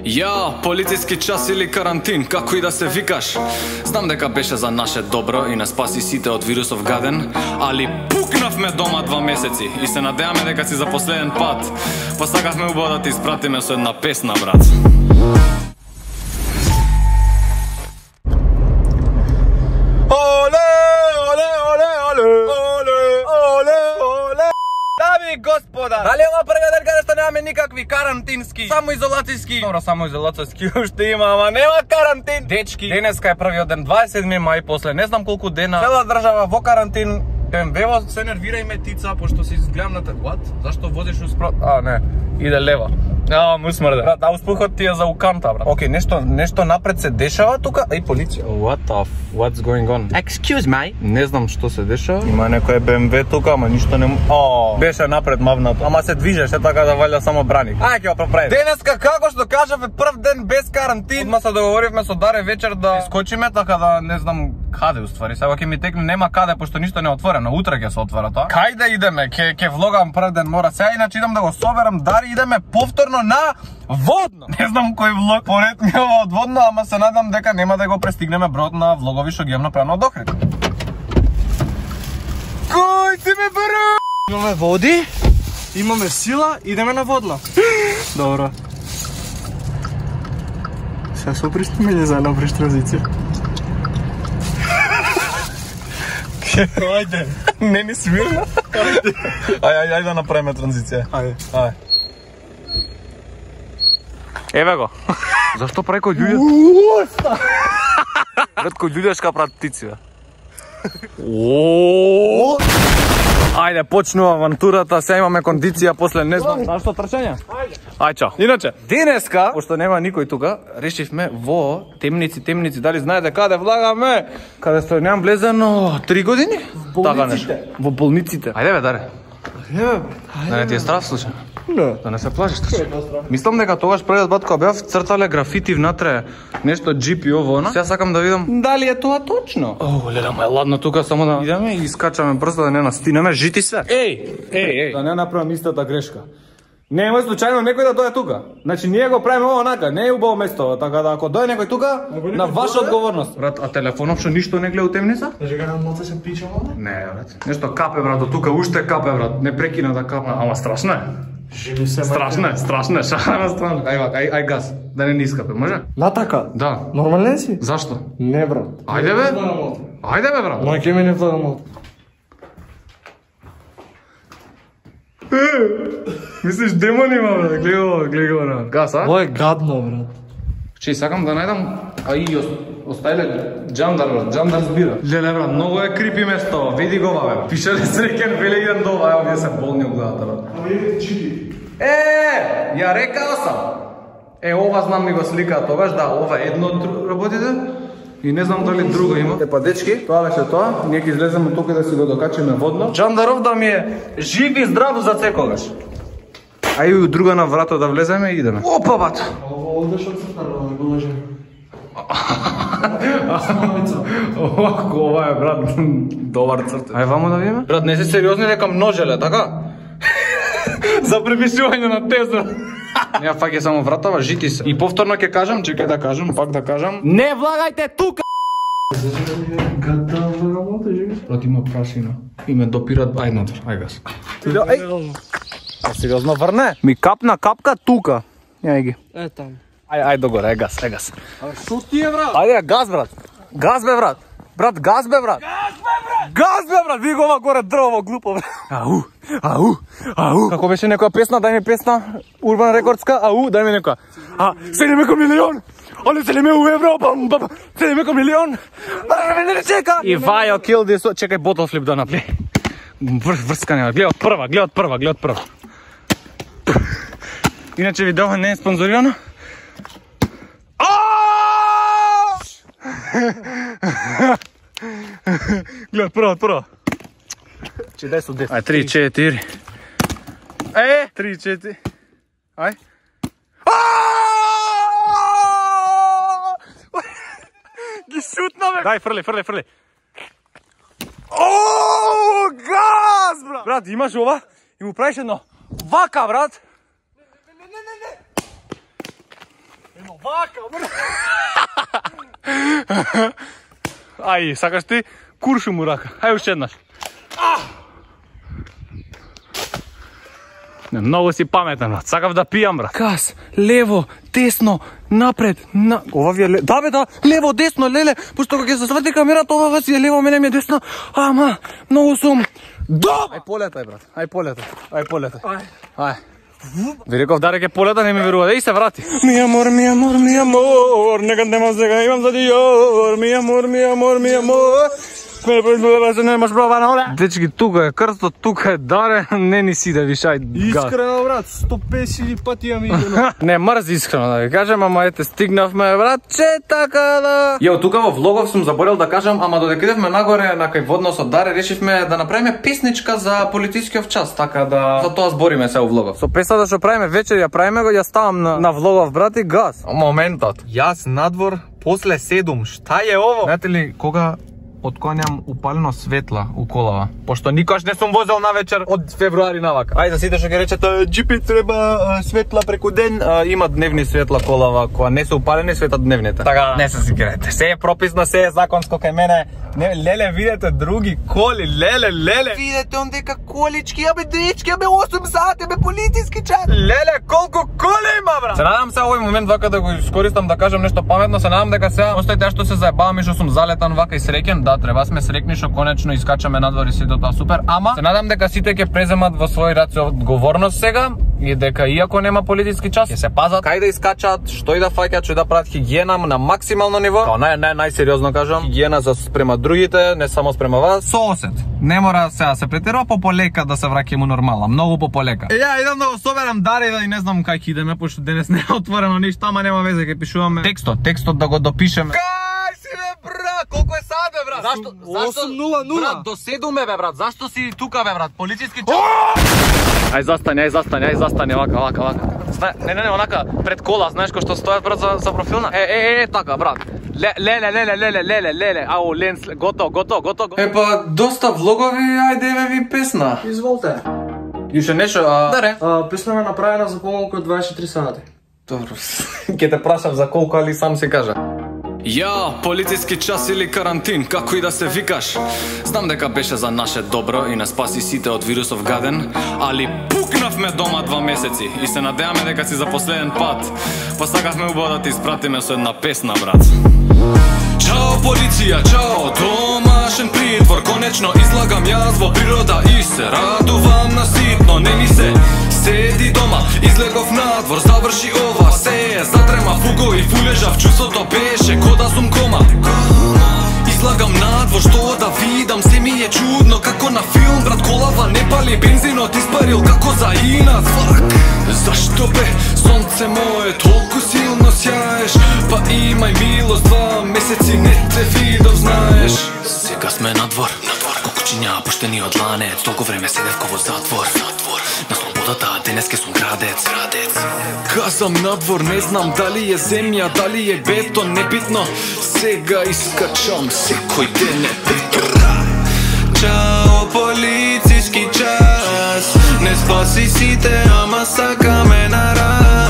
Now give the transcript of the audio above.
Ја, полициски час или карантин, како и да се викаш. Знам дека беше за наше добро и не спаси сите од вирусов гаден, али пукнавме дома 2 месеци и се надеваме дека си за последен пат. Посакавме убаво да ти испратиме со една песна, брат. Господа, дали ова првиот ден каде што немаме никакви карантински, самоизолацијски, добро, самоизолацијски уште има, ама нема карантин. Дечки, денеска е првиот ден, 27 мај, после не знам колку дена, цела држава во карантин. БМВ-во се нервирајме тица, пошто си изгледам на what? Зашто возиш усправ... не, иде лева. Му смрде. Брат, успухот ти е за уканта, брат. Океј, нешто напред се дешава тука. Еј, полиција. What's going on? Excuse me. Не знам што се дешава. Има некој БМВ тука, ама ништо не... Беше напред мавнато. Ама се движеше така да валја само браник. Ај, ќе го проправи. Денеска, како што кажавме, прв ден без карантин. Одма се договоривме со Даре вечер да искочиме, така да не знам каде уствари. Сега ќе ми текне, нема каде, пошто ништо не е отворено. Утре ќе се отвора тоа. Кај да идеме? Ќе влогам прв ден, мора. Сега иначе идам да го соберам Даре, идеме повторно на Водно. Не знам кој влог поред ми ова од Водно, ама се надам дека нема да го престигнеме бројот на влогови што ги имам направено од Охрид. Кој си ме бара? Имаме води, имаме сила, идеме на Водно. Добро. Сега се опристиме ли за една преш транзиција? Ајде. Не ни свирна? Ајде да направиме транзиција. Ајде. Еве го. Зашто прави кој луѓе? Брат, кој луѓешка прават птици, бе. Ајде, почнува авантурата, сега имаме кондиција после не знам. Зашто трчање? Ајде, чао. Иначе, денеска, пошто нема никој тука, решивме во темници, дали знаете каде влагаме? Каде што немам влезено 3 години? Така нешто. Во болниците. Ајде бе, Даре. Да не ти е страв случај? Не. Да не се плашиш случај? Мислам дека тогаш првиот пат кога бев цртале графити внатре, нешто GP ово, она. Сега сакам да видам дали е тоа точно. Леле, ма е ладно тука, само да идеме и искачаме брзо да не настинеме жити све. Еј, да не направам истата грешка. Не е случајно некој да дојде тука. Значи ние го правиме ова онака, не е убаво место, така да ако дојде некој тука, на ваша одговорност. Брат, а телефонов што ништо не гледа у темница? Кажи га на ноце се пичам овде? Не, брат. Нешто капе, брат, до тука уште капе, брат. Не прекина да капе. Ама страшно е. Живи се. Страшно е, шарама страшно. Ај газ, да не искапе, може? Натака? Да. Нормален си? Зашто? Не, брат. Ајде бе. Ајде бе, брат. Ма ке ме не влагам од. Мислиш демон има, брат? Гледай го, брат. Газ, а? Ова е гадно, брат. Че сакам да најдам, а и остајле Джандар, брат. Джандар збира. Леле, брат, многу е крипи место. Види го, бе. Пишеле среќен, веле идем долу. Ево, вие се болни од главата, брат. Ама иде чити. Ја рекао сам. Ова знам ми го слика тогаш, да, ова е едно од работите. И не знам дали друго има. Па дечки, тоа беше тоа. Ние ќе излеземе тука да си го докачиме Водно. Джандаров да ми е жив и здрав за секогаш. А и друга на врато да влеземе и идеме. Опа, бат! Овде што цртано, да го лажем. Ова е, брат, добар цртен. Ај вамо да видиме? Брат, не се сериозни дека множеле, така? За препишување на теза. Ја фаќа само вратава, жити се. И повторно ќе кажам, чекај да кажам, пак да кажам. Не влагајте тука! Гата работа, живи. Брат, има прашина. И ме допират, ај надвор, ај газ. Сериозно врне? Ми капна капка тука. Јај ги. Е там. Ај догоре, газ. А што ти е, брат? Ајде, газ, брат. Газ бе, брат. Брат, газ бе, брат. Газ бе, брат. Види го ова горе дрво глупо, брат. Ау. Како беше некоја песна? Дај ми песна. Урбан рекордска. Ау, дај ми некоја. Селиме ко милион. Оле селиме у евро. Селиме ко милион. Не чека. И Вајо kill this. Чекај ботл флип да направи. Врскане, гледа од прва. Иначе видео не е спонзорирано. Гледа од прва. Че дай со 10. Ај, 3, 4. 3, 4. Ај. Ги шутна, бе. Дај, фрли. Газ, брат. Брат, имаш ова? И му правиш едно вака, брат. Емо вака, бре. Ај, сакаш ти? Куршу му рака. Ај уште еднаш. Многу си паметен, брат. Сакав да пијам, брат. Газ, лево, десно, напред, ова ви е лево. Да бе, да, лево, десно, леле. Пошто кога ќе се сврти камерата, ова си е лево, мене ми е десно. Ама, многу сум. Ај полетај, брат. Ај полетај. Ај. Ви реков да реке полета, не ми верува. Еј се врати. Ми амор, нека нема сега имам за диор. Ми амор. Дечки, тука е крстот, тука е даре, не ни си да вишај газ. Искрено, брат, 150 пати ја ми идено. Не мрзи искрено да ви кажем, ама ете стигнавме, братче, така да. Јо, тука во влогов сум заборел да кажам, ама додека идевме нагоре на кај водносот Даре, решивме да направиме песничка за политискиот час, така да за тоа збориме се во влогов. Со песната што правиме вечер, ја правиме го, ја ставам на влогов, брати, газ. Моментот. Јас надвор после 7, шта е ово? Знаете ли кога отклонјам упалено светла у колава, пошто никош не сум возел навечер од февруари навака. Ајде сите што ќе речат джипи треба светла преку ден, има дневни светла колава која не се упалени, светат дневните. Така не се сикирете. Се е прописно, се е законско кај мене. Леле, видете други коли, леле. Видете он дека колички, абе дечки, абе 8 сати, абе политиски час. Леле, колку коли има, брат. Се надам се овој момент вака да го искористам да кажам нешто паметно, се надам дека сега остајте што се заебавам и што сум залетан вака и среќен. Да, треба сме срекни што конечно искачаме надвор и сето тоа супер, ама се надам дека сите ќе преземат во свој раце одговорност сега и дека иако нема политиски час, ќе се пазат кај да искачат, што и да фаќаат, што и да прават хигиена на максимално ниво. Као најсериозно кажам, хигиена за спрема другите, не само спрема вас. Со осет. Не мора сега се претерува, полека да се враќаме нормална, многу полека. Ја идам да го соберам Даре да и не знам кај ќе идеме, пошто денес не е отворено ништо, ама нема везе, ќе пишуваме текстот да го допишеме. Брат, колку е сад, бе, брат? Зашто? 8:00. Брат, до 7 бе, брат. Зашто си тука, бе, брат? Политиски час. Ај застани, вака. Не, онака пред кола, знаеш кој што стојат, брат, за профилна? Така, брат. Леле. Ау, ленс, гото. Епа, доста влогови, ајде ви песна. Изволте. Юше нешто, Даре. Песна ме направена за помалку од 24 сати. Добро. Ке те прашав за колку, али сам се кажа. Ја, полициски час или карантин, како и да се викаш. Знам дека беше за наше добро и не спаси сите од вирусов гаден, али пукнавме дома 2 месеци и се надеаме дека си за последен пат. Посакавме убаво да ти испратиме со една песна, брат. Чао полиција, чао, домашен притвор, конечно излагам јас во природа и се радувам на ситно, не ми се седи дома, излегов надвор, заврши ова, се затрема фуго и фулежав, чувството беше ко да сум кома. Излагам надвор, што да видам, се ми е чудно, како на филм, брат, колава не пали, бензинот испарил, како за инат, фак. Зашто бе, сонце мое, толку силно сјаеш, па имај милост, 2 месеци не те видов, знаеш. Сега сме надвор, кукучиња пуштени од ланец, толку време седевко во затвор. На слободата, денеска сум градец. Казам надвор, не знам дали е земја, дали е бетон, небитно. Сега искачам секој ден е бетон. Чао полициски час, не спаси сите, ама сакаме на раз.